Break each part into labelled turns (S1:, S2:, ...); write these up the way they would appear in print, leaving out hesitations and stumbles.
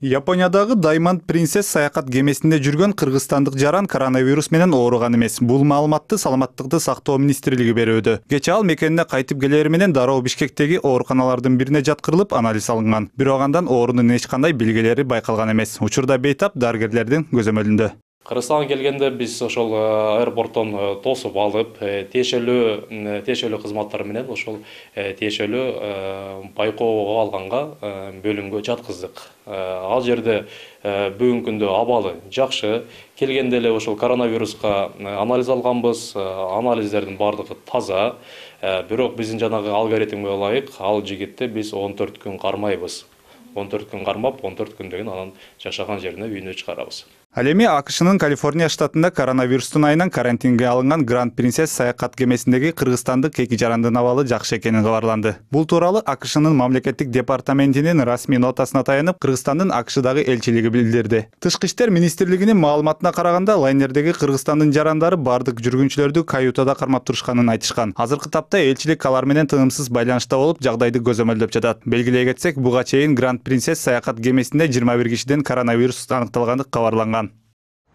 S1: Япониядагы Diamond Princess саякат кемесинде жүргөн кыргызстандык жаран коронавирус менен ооруган эмес. Бул маалыматты Саламаттыкты сактоо министрлиги берүүдө. Кечээ ал мекенине кайтып келери менен дароо Бишкектеги ооруканалардын бирине жаткырылып анализ алынган. Бирок андан оорунун эч кандай белгилери байкалган эмес. Учурда бейтап дарыгерлердин көзөмөлүндө.
S2: Кыргызстанга келгенде биз ошол аэропорттон тосуп алып, тиешелүү кызматтар менен ошол тиешелүү байкоого алганга бөлүмгө жаткыздык. Ал жерде бүгүнкү күндө абалы жакшы. Келгенде эле ошол коронавируска анализ алганбыз. Анализдердин бардыгы таза. Бирок биздин жанагы алгоритмге ылайык ал жигитти биз 14 күн кармайбыз. 14 күн кармап, 14 күндөн кийин анан жашаган жерине үйүнө чыгарабыз.
S1: Ал эми АКШнын Калифорния штатында коронавирустун айынан карантинге алынган Grand Princess саякат кемесиндеги кыргызстандык эки жарандын абалы жакшы экени кабарланды. Бул тууралуу АКШнын мамлекеттик департаментинин расмий нотасына таянып, Кыргызстандын АКШдагы элчилиги билдирди. Тышкы иштер министрлигинин маалыматына караганда, лайнердеги Кыргызстандын жарандары бардык жүргүнчүлөрдү каютада кармап турушканын айтышкан. Азыркы тапта элчилик алар менен тынымсыз байланышта болуп, жагдайды көзөмөлдөп жатат. Белгилей кетсек, буга чейин Grand Princess саякат кемесинде 21 кишиден коронавирус аныкталганы кабарланган.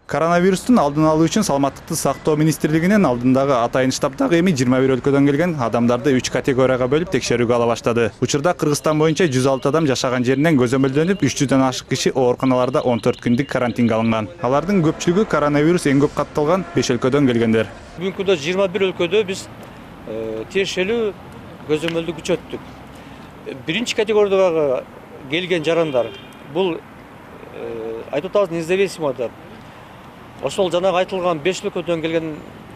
S1: Коронавирустун алдын алуу үчүн Саламаттыкты сактоо министрлигинин алдындагы атайын штабдагы эми 21 өлкөдөн келген адамдарды 3 категорияга бөлүп текшерүүгө ала баштады. Учурда Кыргызстан боюнча 106 адам жашаган жеринен көзөмөлдөнүп, 300дөн ашык киши ооруканаларда 14 күндүк карантинге алынган. Алардын көпчүлүгү коронавирус эң көп катталган 5 өлкөдөн келгендер.
S3: Бүгүнкү күндө 21 өлкөдө биз тиешелүү көзөмөлдү күчөттүк. Биринчи категориядагы келген жарандар бул айтып атабыз независимо деп. Ошол жанагы айтылган 5 өлкөдөн келген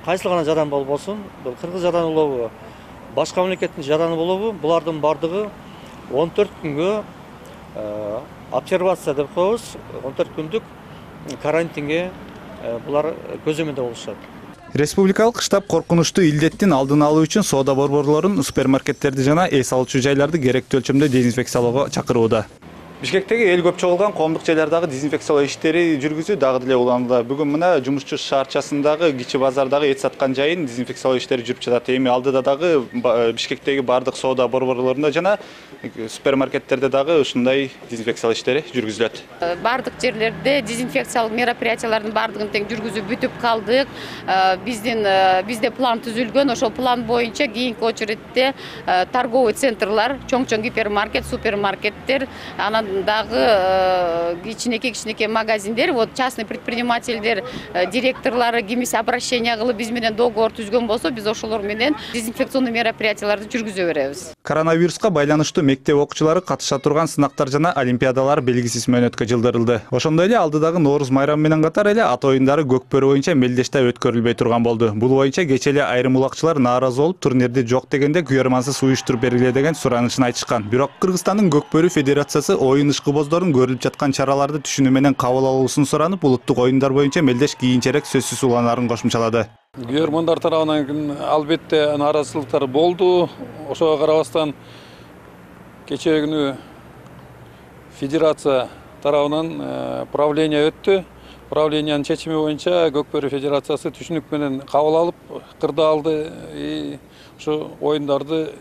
S3: кайсыл гана жаран болбосун, бул кыргыз жараны болобу, башка мамлекеттин жараны болобу, булардын бардыгы 14 күнгө обсервация деп коебуз, 14 күндүк карантинге булар көзөмөлдө болушат.
S1: Республикалык штаб коркунучтуу илдеттин алдын алуу үчүн соода борборлорун, супермаркеттерди жана эс алуучу жайларды керектүү өлчөмдө дезинфекциялоого чакырууда. Бишкектеги эл көп чогулган коомдук жайлардагы дезинфекциялоо иштери жүргүзүү дагы деле уланды. Бүгүн мына жумушчу шаарчасындагы кичи базардагы эт саткан жайын дезинфекциялоо иштери жүрүп жатат. Эми алдыда дагы Бишкектеги бардык соода борборлорунда жана супермаркеттерде дагы ушундай дезинфекциялоо иштери жүргүзүлөт.
S4: Бардык жерлерде дезинфекциялык мероприятиялардын бардыгын тең жүргүзүп бүтүп калдык. Бизде план түзүлгөн, ошол план боюнча кийинки очередде торговый центрлар, чоң-чоң гипермаркет, супермаркеттер, анан дагы кичинекей магазиндер, вот частный предпринимательдер, директорлары кимиси обращение кылып биз менен договор түзгөн болсо, биз ошолор менен дезинфекционный мероприятияларды жүргүзө беребиз.
S1: Коронавируска байланыштуу мектеп окуучулары катыша турган сынактар жана олимпиадалар белгисиз мөөнөткө жылдырылды. Ошондой эле алдыдагы Нооруз майрамы менен катар эле ат оюндары Көкбөрү боюнча Мелдеште өткөрүлбөй турган болду. Бул боюнча кечээ эле айрым улакчылар нааразы болуп, турнирди жок дегенде күйөрмансыз уюштуруп бергиле деген суранышын айтышкан. Бирок Кыргызстандын Көкбөрү федерациясы оюн ышкыбоздордун көрүлүп жаткан чараларды түшүнүү менен кабыл алуусун суранып, улуттук оюндар боюнча Мелдеш кийинчерээк сөзсүз уланаарын кошумчалады.
S5: Күйөрмандар тарабынан албетте нааразычылыктар болду. Ошого карабастан кечээ күнү федерация тарабынан правление өттү. Правлениянын чечими боюнча Көкбөрү федерациясы түшүнүк менен кабыл алып, кырда алды и ушу оюндарды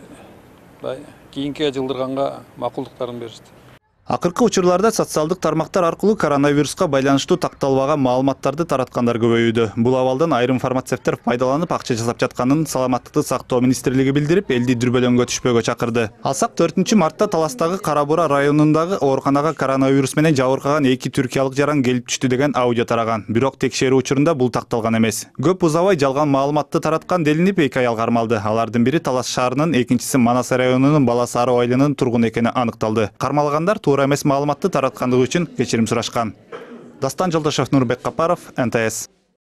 S5: кийинки жылдырганга макулдуктарын беришти.
S1: Акыркы учурларда социалдык тармактар аркылуу коронавируска байланыштуу такталбаган маалыматтарды тараткандар көбөйүүдө. Бул абалдан айрым фармацевттер пайдаланып акча жасап жатканын Саламаттыкты сактоо министрлиги билдирип, элди дүрбөлөңгө түшпөөгө чакырды. Алсак 4 мартта Таластагы Кара-Бура районундагы ооруканага коронавирус менен жабыркаган 2 түркиялык жаран келип түштү деген аудио тараган. Бирок текшерүү учурунда бул такталган эмес. Көп узабай жалган маалыматты тараткан делинип 2 аял кармалды. Алардын бири Талас шаарынын, экинчиси Манас районунун Бала Сары айылынын тургуну экени аныкталды. Кармалгандар эмес маалыматты тараткандыгы үчүн кечирим сурашкан. Дастан Жолдошев, Нурбек Капаров, НТС.